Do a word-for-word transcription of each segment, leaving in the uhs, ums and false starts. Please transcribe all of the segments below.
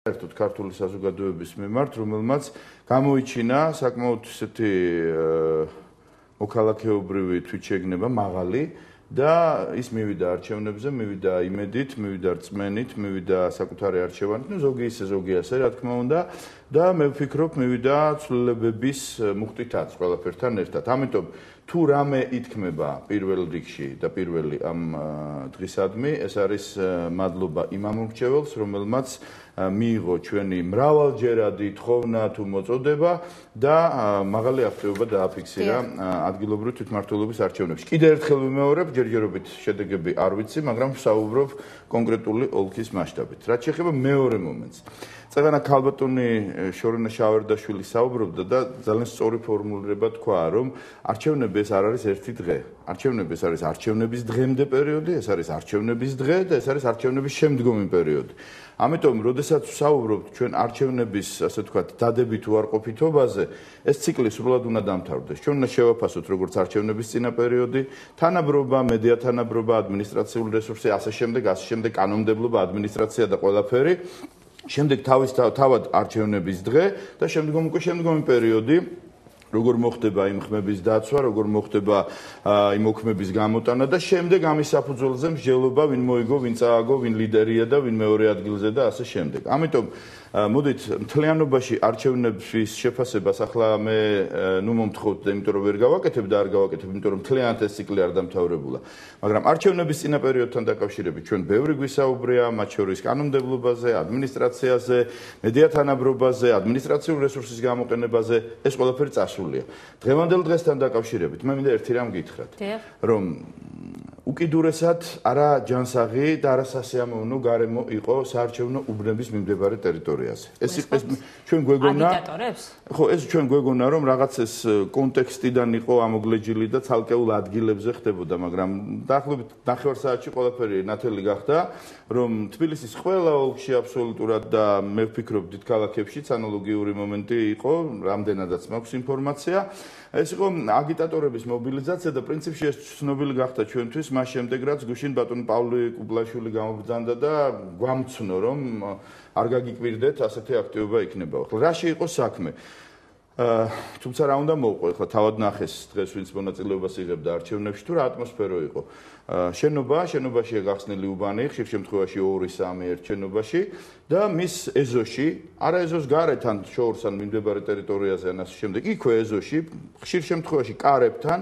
საერთოდ ქართული საზოგადოების მიმართ, რომელმაც გამოიჩინა საკმაოდ ისეთი მოქალაქეობრივი თვითშეგნება მაღალი და ის მივიდა არჩევნებზე, მივიდა იმედით, მივიდა რწმენით, მივიდა საკუთარი არჩევანით, ну ზოგი ისე, ზოგი ასე, რა თქმა უნდა, და მე ვფიქრობ, მივიდა ცვლილებების მუხტითაც ყველაფერთან ერთად. ამიტომ თუ რამე ითქმება პირველ რიგში და პირველი ამ დღისადმი, ეს არის მადლობა იმ ამომრჩეველს, რომელმაც მიიღო ჩვენი მრავალჯერადი თხოვნა თუ მოწოდება და მაღალი აღწევება დააფიქსირა ადგილობრივი თვითმმართველობის არჩევნებში. კიდევ ერთხელ ვიმეორებ, ჯერჯერობით შედეგები არ ვიცი, მაგრამ ვსაუბრობ კონკრეტული ოლქის მასშტაბით. რაც შეეხება მეორე მომენტს. წეგანა ქალბატონი შორენა შავერდაშვილი საუბრობდა და ძალიან სწორი ფორმულირება თქვა, რომ არჩევნები ეს არ არის ერთი დღე. არჩევნები ეს არის არჩევნების დღემდე პერიოდი, ეს არის არჩევნების დღე და ეს არის არჩევნების შემდგომი პერიოდი. ამიტომ, როდესაც ვსაუბრობთ ჩვენ არჩევნების, ასე ვთქვათ, დადებით უარყოფითობაზე, ეს ციკლი სრულად უნდა დამთავრდეს. ჩვენ უნდა შევაფასოთ როგორც არჩევნების წინა პერიოდი, თანაბრობა, მედია თანაბრობა, ადმინისტრაციული რესურსი, ასე შემდეგ, ასე შემდეგ, კანონმდებლობა, ადმინისტრაცია და ყველაფერი. შემდეგ თავის თავად არჩევნების დღე და შემდგომ უკვე შემდგომი პერიოდი, როგორ მოხდება იმ ხმების დაცვა, როგორ მოხდება იმ ოქმების გამოტანა და შემდეგ ამის საფუძველზე მსჯელობა, ვინ მოიგო, ვინ წააგო, ვინ ლიდერია და ვინ მეორე ადგილზე და ასე შემდეგ. ამიტომ მოდით მთლიანობაში არჩევნების შეფასებას ახლა მე ნუ მომთხოვთ და იმიტომ რომ ვერ გავაკეთებ და არ გავაკეთებ, იმიტომ რომ მთლიანად ეს ციკლი არ დამთავრებულა. მაგრამ არჩევნების წინა პერიოდთან დაკავშირებით ჩვენ ბევრი გვისაუბრია, მათ შორის კანონმდებლობაზე, ადმინისტრაციაზე, მედია თანაბრობაზე, ადმინისტრაციული რესურსის გამოყენებაზე, ეს ყველაფერი წასულია. დღევანდელ დღესთან დაკავშირებით მე მინდა ერთი რამ გითხრათ, რომ უკიდურესად არა ჯანსაღი და არა სასიამოვნო გარემო იყო საარჩევნო უბნების მიმდებარე ტერიტორიაზე. ეს ეს ჩვენ გვეგონა აგიტატორებს? ხო, ეს ჩვენ გვეგონა რომ რაღაც ეს კონტექსტიდან იყო ამოგლეჯილი და ცალკეულ ადგილებზე ხდებოდა, მაგრამ დაახლოებით ნახევარ საათში ყველაფერი ნათელი გახდა, რომ თბილისის ყველა ოლქში აბსოლუტურად და მე ვფიქრობ დიდ ქალაქებშიც ანალოგიური მომენტი იყო, რამდენადაც მაქვს ინფორმაცია. ეს იყო აგიტატორების მობილიზაცია და პრინციპში ეს ცნობილი გახდა ჩვენთვის მას შემდეგ რაც გუშინ ბატონ პავლე კუბლაშვილი გამობრძანდა და გვამცნო რომ არ გაგიკვირდეთ ასეთი აქტივობა იქნება. ახლა რაში იყო საქმე? თუმცა რა უნდა მოვყვე, ახლა თავად ნახეს დღეს ვინც მონაწილეობას იღებდა არჩევნებში თუ რა ატმოსფერო იყო. შენობა, შენობაშია გახსნილი უბანი, ხშირ შემთხვევაში ორი სამი ერთ შენობაში და მის ეზოში, არა ეზოს გარეთ ან შორს ან მიმდებარე ტერიტორიაზე ან ასე შემდეგ, იქვე ეზოში, ხშირ შემთხვევაში კარებთან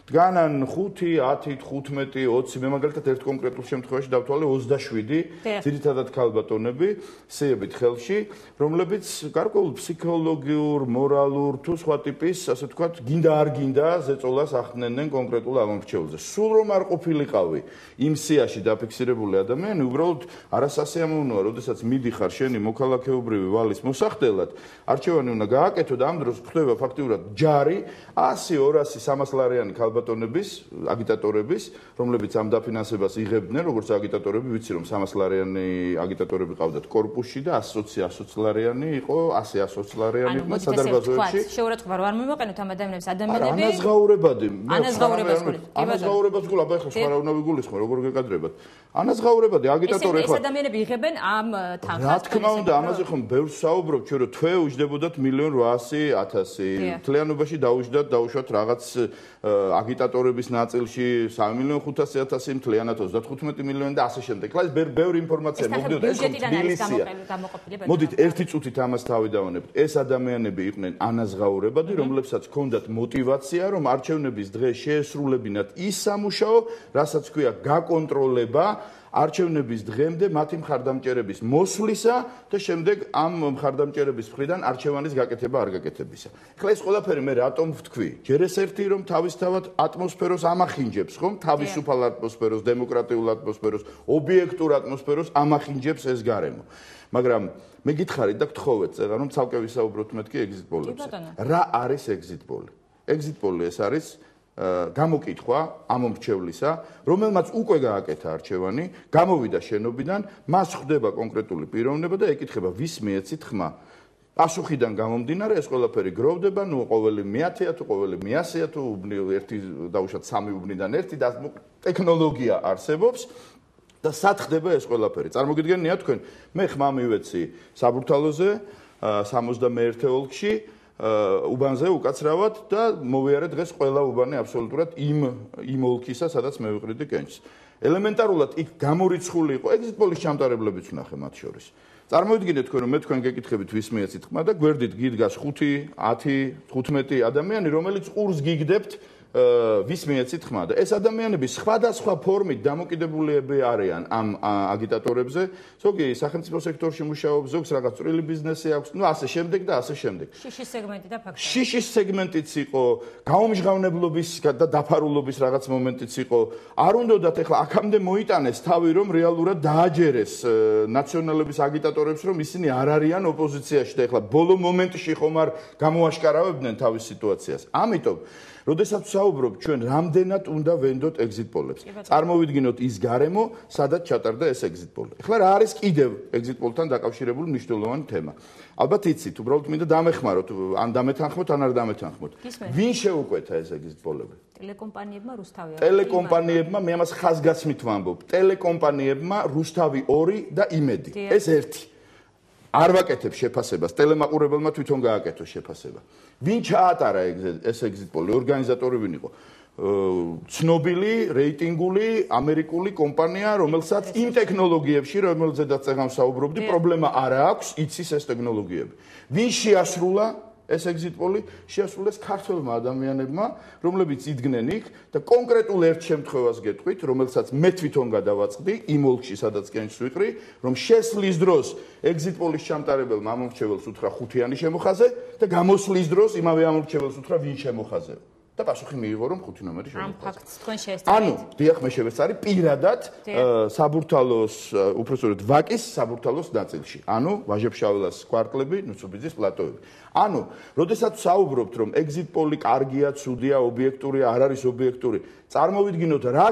დგანან ხუთი, ათი, თხუთმეტი, ოცი, მე მაგალითად ერთ კონკრეტულ შემთხვევაში დავთვალე ოცდაშვიდი ძირითადად ქალბატონები, სიებით ხელში, რომლებიც გარკვეულ ფსიქოლოგიურ, მორალურ თუ სხვა ტიპის, ასე ვთქვათ, გინდა არ გინდა ზეწოლას ახდენენ კონკრეტულ ამომრჩეველზე. სულ რომ არ ყოფილიყავი იმ სიაში დაფიქსირებული ადამიანი, უბრალოდ არასასიამოვნოა, როდესაც მიდიხარ შენი მოქალაქეობრივი ვალის მოსახდელად, არჩევანი უნდა გააკეთო და ამ დროს ხდება ფაქტიურად ჯარი ასი, ორასი, სამას ლარიანი ბატონების, აგიტატორების, რომლებიც ამ დაფინანსებას იღებდნენ, როგორც აგიტატორები, ვიცი რომ სამას ლარიანი აგიტატორები ყავდათ კორპუსში და ასი ოცი ლარიანი იყო, ასი ოცი ლარიანი იყო სადარბაზოებში. შეურაცხყოფა რომ არ მივაყენოთ ამ ადამიანებს ადამიანები. ანაზღაურებადი. ანაზღაურებას გულით. ანაზღაურებას გულ, აბა ეხლა სხვა რა უნდა ვიგულისხმო, როგორ გეკადრებათ. ანაზღაურებადი აგიტატორი ეხლა. ეს ადამიანები იღებენ ამ თანხას. რა თქმა უნდა, ამაზე ხომ ბევრს საუბრობთ, ჩვენ რომ თვე უჯდებოდათ მილიონ რვაასი ათასი. მთლიანობაში დაუჯდათ, დაუშვათ რაღაც აგიტატორების ნაწილში სამი მილიონ ხუთასი ათასი, მთლიანად ოცდათხუთმეტი მილიონი და ასე შემდეგ. ეს ბევრი ინფორმაცია მოგდიოდა, ეს თბილისია. მოდით ერთი წუთით ამას თავი დავანებთ. ეს ადამიანები იყვნენ ანაზღაურებადი, რომლებსაც ჰქონდათ мотиваცია, რომ არჩევნების დღე შეესრულებინათ ის სამუშაო, რასაც ქვია გაკონტროლება არჩევნების დღემდე მათი მხარდამჭერების მოსვლისა და შემდეგ ამ მხარდამჭერების მხრიდან არჩევანის გაკეთება არ გაკეთებისა. ეხლა ეს ყველაფერი მე რატომ ვთქვი? ჯერ ეს ერთი რომ თავისთავად ატმოსფეროს ამახინჯებს, ხომ? თავისუფალ ატმოსფეროს, დემოკრატიულ ატმოსფეროს, ობიექტურ ატმოსფეროს ამახინჯებს ეს გარემო. მაგრამ მე გითხარით და გთხოვეთ წერა რომ ცალკე ვისაუბროთ მეთქი exit poll-ებზე. რა არის exit poll? exit poll ეს არის გამოკითხვა ამომრჩევლისა, რომელმაც უკვე გააკეთა არჩევანი, გამოვიდა შენობიდან, მას ხვდება კონკრეტული პიროვნება და ეკითხება ვის მიეცით ხმა. პასუხიდან გამომდინარე ეს ყველაფერი გროვდება, ნუ ყოველი მეათეა თუ ყოველი მეასეა თუ ერთი დაუშვათ სამი უბნიდან ერთი და ტექნოლოგია არსებობს. და სად ხდება ეს ყველაფერი? წარმოგიდგენია თქვენ, მე ხმა მივეცი საბურთალოზე, სამოცდამეერთე ოლქში, უბანზე უკაცრავად და მოვიარე დღეს ყველა უბანი აბსოლუტურად იმ იმ ოლქისა, სადაც მე ვიყრიდი კენჭს. ელემენტარულად იქ გამორიცხული იყო ეგზიტ პოლის ჩამტარებლებიც ვნახე მათ შორის. წარმოვიდგინეთ თქვენ, რომ მე თქვენ გეკითხებით ვის მიეცით ხმა და გვერდით გიდგას ხუთი, ათი, თხუთმეტი ადამიანი, რომელიც ყურს გიგდებთ ვის მიეცით ხმა და ეს ადამიანები სხვადასხვა ფორმით დამოკიდებულები არიან ამ აგიტატორებზე, ზოგი სახელმწიფო სექტორში მუშაობს, ზოგს რაღაც წვრილი ბიზნესი აქვს, ну ასე შემდეგ და ასე შემდეგ. შიშის სეგმენტი და ფაქტია. შიშის სეგმენტიც იყო, გაუმჟღავნებლობის და დაფარულობის რაღაც მომენტიც იყო. არ უნდათ ეხლა აქამდე მოიტანეს თავი, რომ რეალურად დააჯერეს ნაციონალების აგიტატორებს, რომ ისინი არ არიან ოპოზიციაში და ეხლა ბოლო მომენტში ხომ არ გამოაშკარავებდნენ თავის სიტუაციას. ამიტომ როდესაც საუბრობ ჩვენ რამდენად უნდა ვენდოთ ეგზიტ პოლებს. წარმოვიდგინოთ ის გარემო, სადაც ჩატარდა ეს ეგზიტ პოლი. ეხლა რა არის კიდევ ეგზიტ პოლთან დაკავშირებული მნიშვნელოვანი თემა. ალბათ იცით, უბრალოდ მინდა დამეხმაროთ, ან დამეთანხმოთ, ან არ დამეთანხმოთ. ვინ შეუკვეთა ეს ეგზიტ პოლები? ტელეკომპანიებმა რუსთავი. ტელეკომპანიებმა, მე ამას ხაზგასმით ვამბობ, ტელეკომპანიებმა რუსთავი ორი და იმედი. ეს ერთი. არ ვაკეთებ შეფასებას, ტელემაყურებელმა თვითონ გააკეთოს შეფასება. ვინ ჩაატარა ეს ეგზიტ პოლი? ორგანიზატორი ვინ იყო? ცნობილი, რეიტინგული, ამერიკული კომპანია, რომელსაც იმ ტექნოლოგიებში, რომელზედაც წეგან ვსაუბრობდი, პრობლემა არ აქვს, იცის ეს ტექნოლოგიები. ვინ შეასრულა ეს ეგზიტ პოლი? შეასრულეს ქართველმა ადამიანებმა, რომლებიც იდგნენ იქ და კონკრეტულ ერთ შემთხვევას გეტყვით, რომელსაც მე თვითონ გადავაწყდი იმ ოლქში, სადაც კენჭს ვიყრი, რომ შესვლის დროს ეგზიტ პოლის ჩამტარებელმა ამორჩეველს უთხრა ხუთიანი შემოხაზე და გამოსვლის დროს იმავე ამორჩეველს უთხრა ვინ შემოხაზე. და პასუხი მიიღო, რომ ხუთი ნომერი შემოხაზე. ამ ფაქტს თქვენ შეესწავლეთ. ანუ, დიახ, მე შევეცარი პირადად საბურთალოს, უпростоრად ვაკის საბურთალოს ნაწილში. ანუ, ვაჟებშაველას კვარტლები, ნუცუბიძის პლატოები. ანუ, როდესაც საუბრობთ, რომ ეგზიტ პოლი კარგია, ცუდია, ობიექტურია, არ არის ობიექტური, წარმოვიდგინოთ, რა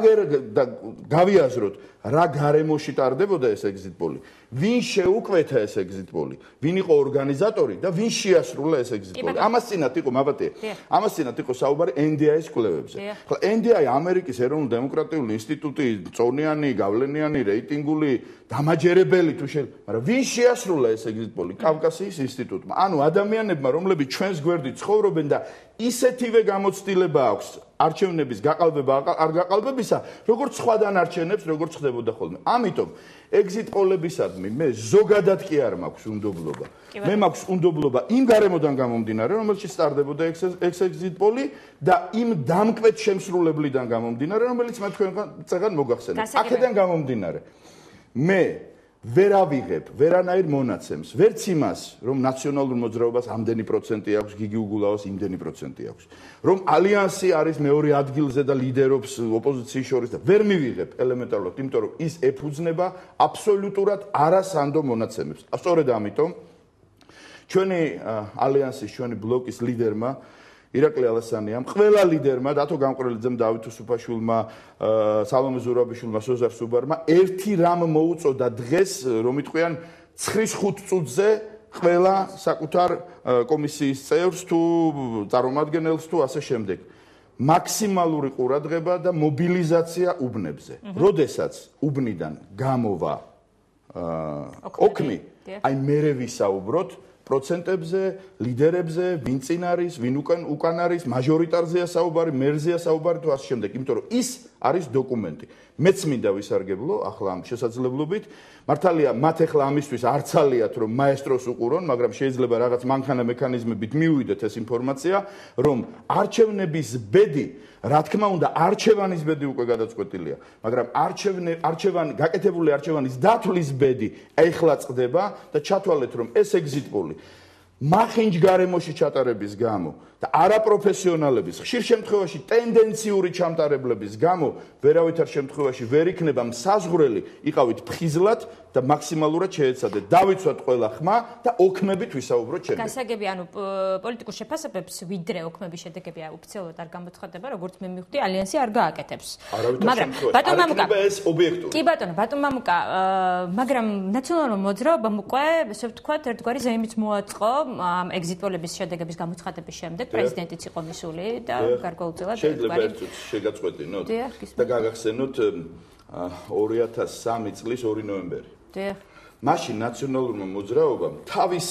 გავიაზროთ, რა გარემოში ტარდებოდა ეს ეგზიტ პოლი. ვინ შეუკვეთა ეს ეგზიტ პოლი? ვინ იყო ორგანიზატორი და ვინ შეასრულა ეს ეგზიტ პოლი? ამას წინათ იყო, მაბატია. ამას წინათ იყო საუბარი ენ დი აის კვლევებზე. ხლა ენ დი აი ამერიკის ეროვნულ დემოკრატიული ინსტიტუტი, წონიანი, გავლენიანი, რეიტინგული, დამაჯერებელი თუ შეიძლება, მაგრამ ვინ შეასრულა ეს ეგზიტ პოლი? კავკასიის ინსტიტუტმა. ანუ ადამიანებმა, რომლებიც ჩვენს გვერდით ცხოვრობენ და ისეთივე გამოცდილება აქვს არჩევნების გაყალბება არ გაყალბებისა, როგორც სხვა დანარჩენებს, როგორც ხდებოდა ხოლმე. ამიტომ ეგზიტ პოლებისადმი მე ზოგადად კი არ მაქვს უნდობლობა. მე მაქვს უნდობლობა იმ გარემოდან გამომდინარე, რომელშიც სტარდებოდა ეს ეგზიტ პოლი და იმ დამკვეთ შემსრულებლიდან გამომდინარე, რომელიც მე თქვენგან წეგან მოგახსენეთ. აქედან გამომდინარე. მე ვერ ავიღებ ვერანაირ მონაცემს, ვერც იმას, რომ ნაციონალურ მოძრაობას ამდენი პროცენტი აქვს, გიგი უგულაოს იმდენი პროცენტი აქვს, რომ ალიანსი არის მეორე ადგილზე და ლიდერობს ოპოზიციის შორის და ვერ მივიღებ ელემენტარულად, იმიტომ რომ ის ეფუძნება აბსოლუტურად არასანდო მონაცემებს. სწორედ ამიტომ ჩვენი ალიანსის, ჩვენი ბლოკის ლიდერმა ირაკლი ალასანიამ, ყველა ლიდერმა, დათო გამყრელიძემ, დავით უსუფაშვილმა, სალომე ზურაბიშვილმა, სოზარ სუბარმა ერთი რამ მოუწოდა დღეს, რომ იტყვიან ცხრის ხუთ წუთზე ყველა საკუთარ კომისიის წევრს თუ წარმომადგენელს თუ ასე შემდეგ. მაქსიმალური ყურადღება და მობილიზაცია უბნებზე. როდესაც უბნიდან გამოვა ოქმი, აი მერე ვისაუბროთ პროცენტებზე, ლიდერებზე, ვინ წინ არის, ვინ უკან უკან არის, მაჟორიტარზეა საუბარი, მერზეა საუბარი თუ ასე შემდეგ, იმიტომ რომ ის არის დოკუმენტი. მეც მინდა ვისარგებლო ახლა ამ შესაძლებლობით. მართალია, მათ ახლა ამისთვის არ ცალიათ რომ მაესტროს უყურონ, მაგრამ შეიძლება რაღაც მანქანა მექანიზმებით მივიდეთ ეს ინფორმაცია, რომ არჩევნების ბედი, რა თქმა უნდა, არჩევანის ბედი უკვე გადაწყვეტილია, მაგრამ არჩევნე არჩევანი, გაკეთებული არჩევანის დათვლის ბედი ეხლა წდება და ჩათვალეთ, რომ ეს ეგზიტ პოლი მახინჯ გარემოში ჩატარების გამო და არაპროფესიონალების, ხშირ შემთხვევაში ტენდენციური ჩამტარებლების გამო ვერავითარ შემთხვევაში ვერ იქნება მსაზღვრელი, იყავით ფხიზლად და მაქსიმალურად შეეცადეთ. დავიცვათ ყველა ხმა და ოქმებით ვისაუბროთ შემდეგ. გასაგები, ანუ პოლიტიკურ შეფასებებს ვიდრე ოქმების შედეგები ოფიციალურად არ გამოცხადდება, როგორც მე მივხვდი, ალიანსი არ გააკეთებს. მაგრამ ბატონ მამუკა, ეს ობიექტური. კი ბატონო, ბატონ მამუკა, მაგრამ ნაციონალურ მოძრაობამ უკვე, ესე ვთქვათ, ერთგვარი ზეიმით მოაწყო ამ ეგზიტ პოლების შედეგების გამოცხადების შემდეგ. პრეზიდენტიც იყო მისული და გარკვეულწილად შეიძლება ერთ წუთს შეგაწყვეტინოთ და გაგახსენოთ ორი ათას სამი წლის ორი ნოემბერი. დიახ. მაშინ ნაციონალურმა მოძრაობამ თავისი